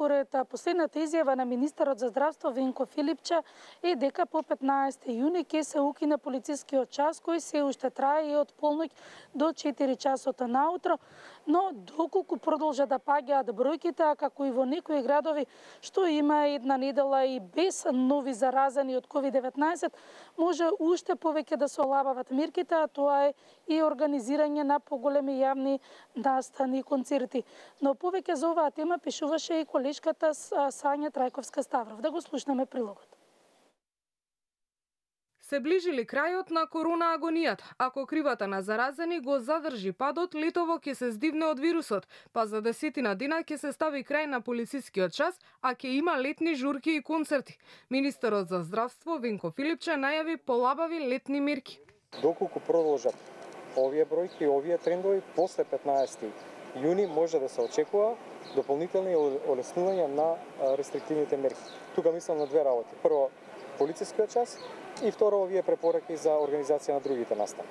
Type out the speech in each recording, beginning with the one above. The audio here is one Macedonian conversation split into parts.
според последната изјава на министерот за здравство Венко Филипче е дека по 15 јуни ќе се укине полицискиот час кој се уште трае од полноќ до 4 часот наутро, но доколку продолжа да паѓаат бројките, а како и во некои градови што има една недела и без нови заразени од COVID-19, може уште повеќе да се олабават мерките, а тоа е и организирање на поголеми јавни настани и концерти. Но повеќе за оваа тема пишуваше и колешката Сања Трајковска-Ставров. Да го слушнеме прилогот. Се ближили крајот на корона агонијата. Ако кривата на заразени го задржи падот, летово ќе се здивне од вирусот, па за 10 дена ќе се стави крај на полицискиот час, а ќе има летни журки и концерти. Министерот за здравство Венко Филипче најави полабави летни мерки. Доколку продолжат овие бројки и овие трендови, после 15 јуни може да се очекува дополнителни олеснувања на рестриктивните мерки. Тука мислам на две работи. Прво, полицискиот час и второ, овие препораки за организација на другите настани.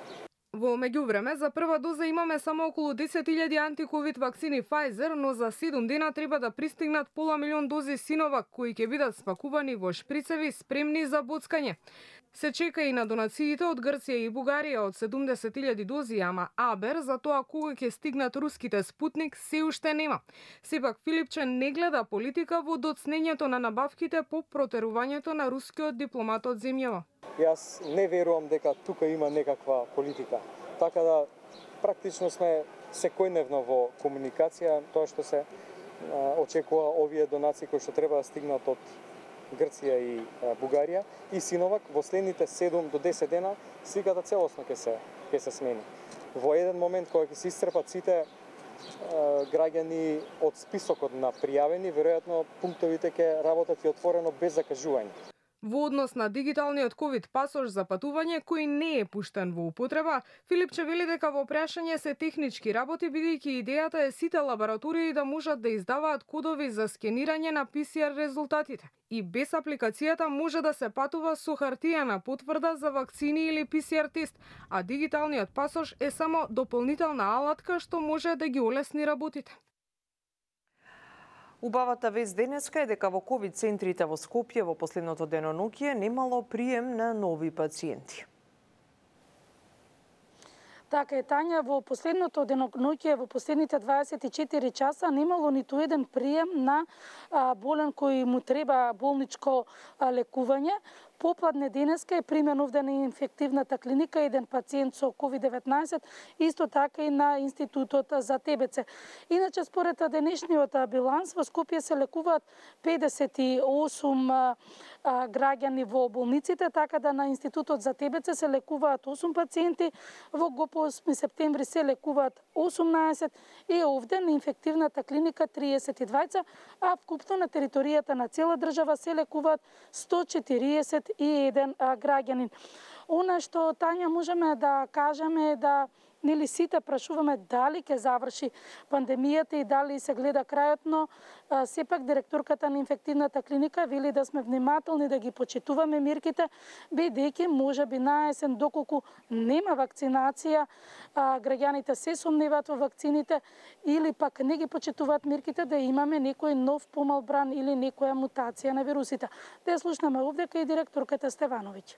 Во меѓувреме, за прва доза имаме само околу 10.000 антиковид вакцини Pfizer, но за 7 дена треба да пристигнат пола милион дози Sinovac, кои ќе бидат спакувани во шприцеви спремни за боцкање. Се чека и на донациите од Грција и Бугарија од 70.000 дози, ама Абер за тоа кога ќе стигнат руските Спутник се уште нема. Сепак Филипче не гледа политика во доцнењето на набавките по протерувањето на рускиот дипломат од земјава. Јас не верувам дека тука има некаква политика. Така да практично сме секојдневно во комуникација, тоа што се очекува овие донации кои што треба да стигнат од Грција и Бугарија и Синовак во следните 7 до 10 дена сликата целосно ќе се смени. Во еден момент кога ќе се исцрпат сите граѓани од списокот на пријавени, веројатно пунктовите ќе работат и отворено без закажување. Во однос на дигиталниот ковид пасош за патување кој не е пуштен во употреба, Филипче вели дека во прашање се технички работи, бидејќи идејата е сите лаборатории да можат да издаваат кодови за скенирање на PCR резултатите. И без апликацијата може да се патува со хартијана потврда за вакцини или PCR тест, а дигиталниот пасош е само дополнителна алатка што може да ги олесни работите. Убавата вест денеска е дека во ковид центрите во Скопје во последното денонокие немало прием на нови пациенти. Така е, Тања, во последното денонокие, во последните 24 часа немало ниту еден прием на болен кој му треба болничко лекување. Попладне денеска е примен овде на инфективната клиника еден пациент со COVID-19, исто така и на Институтот за ТБЦ. Иначе, според денешниот биланс, во Скопје се лекуваат 58 граѓани во болниците, така да на Институтот за ТБЦ се лекуваат 8 пациенти, во ГОП 8 септември се лекуваат 18 и овде на инфективната клиника 32, а вкупно на територијата на цела држава се лекуваат 141 граѓанин. Она што, Тања, можеме да кажеме да нели сите прашуваме дали ќе заврши пандемијата и дали се гледа крајот, но сепак директорката на инфективната клиника вели да сме внимателни, да ги почитуваме мерките, бидејќи можеби на есен, доколку нема вакцинација, граѓаните се сомневаат во вакцините или пак не ги почитуваат мерките, да имаме некој нов помал бран или некоја мутација на вирусите. Да ја слушнеме овде кај директорката Стевановиќ.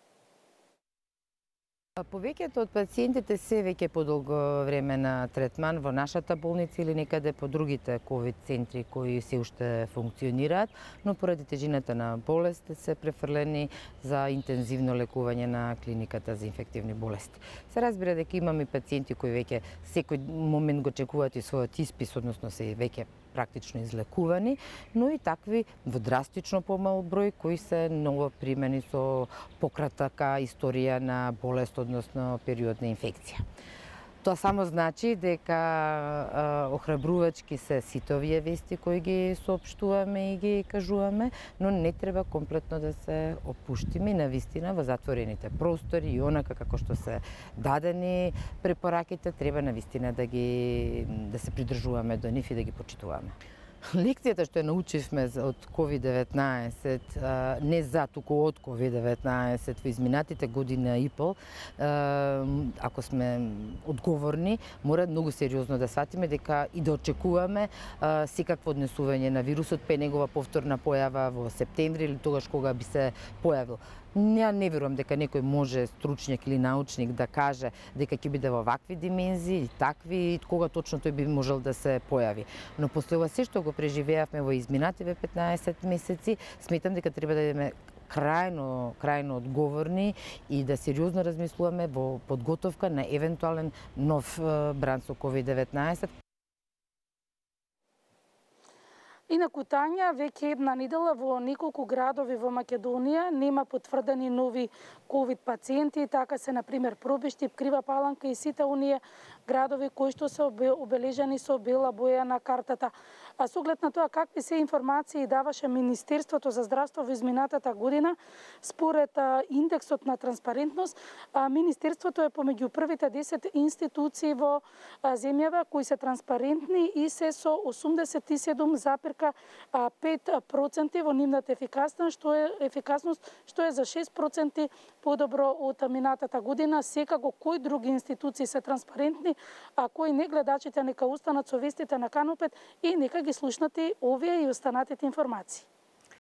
Повеќето од пациентите се веќе подолго време на третман во нашата болница или некаде по другите ковид центри кои се уште функционираат, но поради тежината на болест се префрлени за интензивно лекување на клиниката за инфективни болести. Се разбира дека имаме пациенти кои веќе секој момент го чекуваат и својот испис, односно се веќе практично излекувани, но и такви во драстично помал број кои се ново примени со пократка историја на болест, односно период на инфекција. Тоа само значи дека охрабрувачки се сите овие вести кои ги соопштуваме и ги кажуваме, но не треба комплетно да се опуштиме на вистина во затворените простори и онака како што се дадени препораките, треба на вистина да се придржуваме до нив и да ги почитуваме. лекцијата што ја научивме од COVID-19, не за туку од COVID-19 во изминатите година и пол, ако сме одговорни, мора многу сериозно да сватиме дека и да очекуваме секакво однесување на вирусот пе негова повторна појава во септември или тогаш кога би се појавил. Ја не верувам дека некој може, стручњак или научник, да каже дека ќе биде во вакви димензии, такви, и кога точно тој би можел да се појави. Но после ова се што го преживеавме во изминативе 15 месеци, сметам дека треба да бидеме крајно одговорни и да сериозно размислуваме во подготовка на евентуален нов бран со COVID-19. Инаку, Тања, веќе една недела во неколку градови во Македонија нема потврдени нови ковид пациенти, така се, например, Пробиштип, Крива Паланка и сите оние градови кои што се обележани со бела боја на картата. А со оглед на тоа какви се информации даваше Министерството за здравство во изминатата година, според индексот на транспарентност, Министерството е помеѓу првите 10 институции во земјава кои се транспарентни и се со 87,5% во нивната ефикасност, што е за 6% подобро од минатата година. Секако кои други институции се транспарентни, а кои не, гледачите нека останат со вестите на Канал 5 и нека ги слушнати овие и останатите информации.